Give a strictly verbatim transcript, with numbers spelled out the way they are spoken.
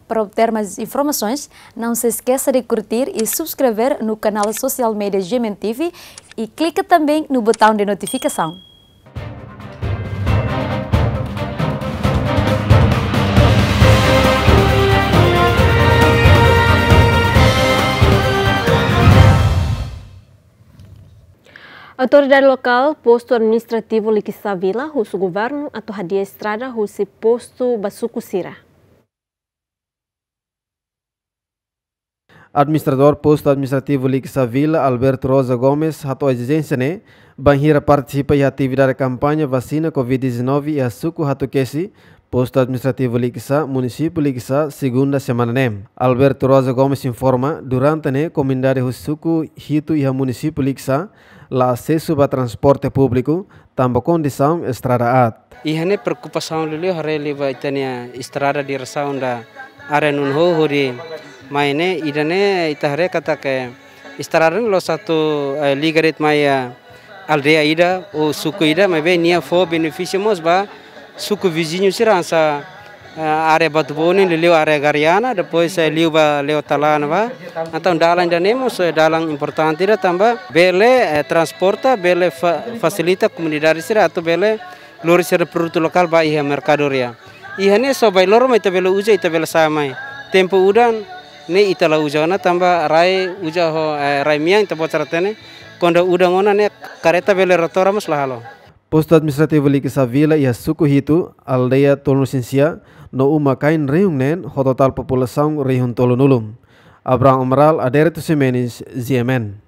Para obter mais informações, não se esqueça de curtir e subscrever no canal social media G M N T V e clica também no botão de notificação. Autoridade lokál Postu Administrativu Likisá Vila husu governu atu hadi'a estrada husi postu ba suku sira. Administradór Postu Administrativu Likisá Vila, Alberto Rosa Gomes, hato'o ezijénsia ne'e bainhira partisipa iha atividade kampaña vasina covid dezanove iha suku Hatukesi, Postu Administrativu Likisá, Munisípiu Likisá, segunda semana ne'e. Alberto Rosa Gomes informa, durante ne'e komunidade husi suku hitu iha Munisípiu Likisá la asesu ba transporte públiku, tanba kondisaun estrada aat. Iha ne'e preokupasaun liuliu haree liu ba ita-nia estrada diresaun da área Nunho hodi mai ne'e, ida-ne'e ita haree katak estrada ne'e la'ós atu, eh, liga de'it mai, eh, aldeia ida ou suku ida, maibé nia fó benefísiu mós ba suku viziñu sira hanesan, eh, área Batu Bone, liuliu área Gariana, depois, eh, liu ba Leotala ne'ebá. Entaun dalan ida-ne'e mós, eh, dalan importante ida tanba bele, eh, transporta, bele fa-, fasilita komunidade sira atu bele lori sira produtu lokál ba iha merkadoria. Iha ne'e só bailoro mai ita bele uza, ita bele sa'e mai. Tempu udan ne'e ita la uza ona tanba rai uza ho, eh, rai-mean ita-boot sira hatene. Kuandu udan ona ne'e karreta bele rotora mós la halo. Postu Administrativu Likisá Vila iha suku hitu, aldeia tolunulu-resin-sia, no uma-kain rihun neen, ho totál populasaun rihun tolunulu. Abraham Amaral, Adérito Ximenes, G M N.